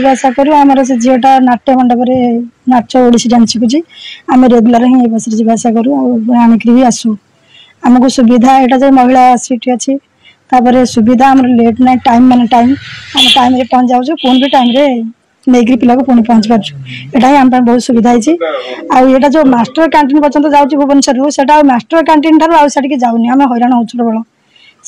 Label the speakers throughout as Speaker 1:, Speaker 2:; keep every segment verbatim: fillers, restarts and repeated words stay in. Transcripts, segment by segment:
Speaker 1: ଯିବା ଆସିବା କରୁ। ଆମର ସେ ଝିଅଟା ନାଟ୍ୟ ମଣ୍ଡପରେ ନାଚ ଓଡ଼ିଶୀ ଡ୍ୟାନ୍ସ ଶିଖୁଛି। ଆମେ ରେଗୁଲାର ହିଁ ଏ ବସ୍ରେ ଯିବା ଆସିବା କରୁ ଆଉ ଆଣିକିରି ବି ଆସୁ। ଆମକୁ ସୁବିଧା ଏଇଟା ଯେଉଁ ମହିଳା ସିଟ୍ ଅଛି, ତାପରେ ସୁବିଧା ଆମର ଲେଟ୍ ନାହିଁ, ଟାଇମ୍ ମାନେ ଟାଇମ୍, ଆମେ ଟାଇମ୍ରେ ପହଞ୍ଚି ଯାଉଛୁ, ପୁଣି ବି ଟାଇମ୍ରେ ନେଇକିରି ପିଲାକୁ ପୁଣି ପହଞ୍ଚି ପାରୁଛୁ। ଏଇଟା ହିଁ ଆମ ପାଇଁ ବହୁତ ସୁବିଧା ହେଇଛି। ଆଉ ଏଇଟା ଯେଉଁ ମାଷ୍ଟର କ୍ୟାଣ୍ଟିନ୍ ପର୍ଯ୍ୟନ୍ତ ଯାଉଛି ଭୁବନେଶ୍ୱରରୁ, ସେଟା ଆଉ ମାଷ୍ଟର କ୍ୟାଣ୍ଟିନ୍ ଠାରୁ ଆଉ ସେଠିକି ଯାଉନି, ଆମେ ହଇରାଣ ହେଉଛୁ ପ୍ରବଳ।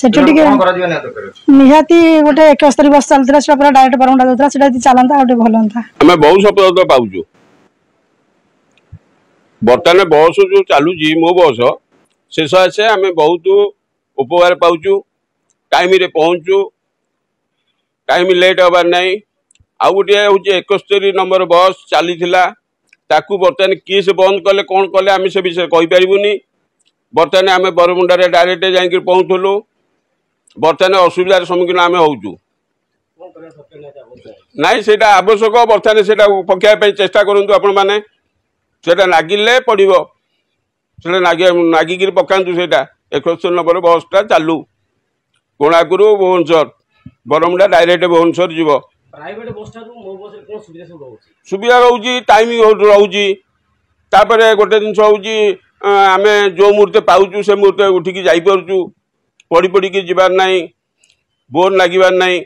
Speaker 1: ସେଠି ଟିକେ
Speaker 2: କଣ କରାଯିବା ନିହାତି ଦରକାର ଅଛି?
Speaker 1: ନିହାତି ଗୋଟେ ଏକସ୍ତରୀ ବସ୍ ଚାଲୁଥିଲା, ସେଟା ପୁରା ଡାଇରେକ୍ଟ ବରମୁଣ୍ଡା ଯାଉଥିଲା, ସେଟା ଯଦି ଚାଲନ୍ତା ଆଉ ଟିକେ ଭଲ ହୁଅନ୍ତା।
Speaker 3: ଆମେ ବହୁ ସଫଳତା ପାଉଛୁ। ବର୍ତ୍ତମାନ ବସ୍ ଯେଉଁ ଚାଲୁଛି ମୋ ବସ୍, ସେ ସକାଶେ ଆମେ ବହୁତ ଉପକାର ପାଉଛୁ। ଟାଇମ୍ରେ ପହଞ୍ଚୁ, ଟାଇମ୍ ଲେଟ୍ ହେବାର ନାହିଁ। ଆଉ ଗୋଟିଏ ହେଉଛି ଏକସ୍ତରୀ ନମ୍ବର ବସ୍ ଚାଲିଥିଲା, ତାକୁ ବର୍ତ୍ତମାନ କିଏ ସେ ବନ୍ଦ କଲେ କ'ଣ କଲେ ଆମେ ସେ ବିଷୟରେ କହିପାରିବୁନି। ବର୍ତ୍ତମାନ ଆମେ ବରମୁଣ୍ଡାରେ ଡାଇରେକ୍ଟ ଯାଇକି ପହଞ୍ଚୁଥିଲୁ, ବର୍ତ୍ତମାନ ଅସୁବିଧାର ସମ୍ମୁଖୀନ ଆମେ ହେଉଛୁ। ନାଇଁ, ସେଇଟା ଆବଶ୍ୟକ। ବର୍ତ୍ତମାନ ସେଇଟା ପକାଇବା ପାଇଁ ଚେଷ୍ଟା କରନ୍ତୁ ଆପଣମାନେ। ସେଇଟା ନାଗିଲେ ପଡ଼ିବ, ସେଇଟା ନାଗି ନାଗିକିରି ପକାନ୍ତୁ। ସେଇଟା ଏକସ୍ତରୀ ନମ୍ବର ବସ୍ଟା ଚାଲୁ, କୋଣାର୍କରୁ ଭୁବନେଶ୍ୱର, ବରମୁଣ୍ଡା ଡାଇରେକ୍ଟ ଭୁବନେଶ୍ୱର ଯିବ।
Speaker 4: ପ୍ରାଇଭେଟ ବସ୍ ଠାରୁ ମୋ ବସ୍ରେ କ'ଣ ସୁବିଧା ସବୁ ରହୁଛି?
Speaker 3: ସୁବିଧା ରହୁଛି, ଟାଇମ୍ ରହୁଛି। ତାପରେ ଗୋଟେ ଜିନିଷ ହେଉଛି, ଆମେ ଯେଉଁ ମୁହୂର୍ତ୍ତେ ପାଉଛୁ ସେ ମୁହୂର୍ତ୍ତେ ଉଠିକି ଯାଇପାରୁଛୁ, ପଡ଼ି ପଡ଼ିକି ଯିବାର ନାହିଁ, ବୋର୍ ଲାଗିବାର ନାହିଁ।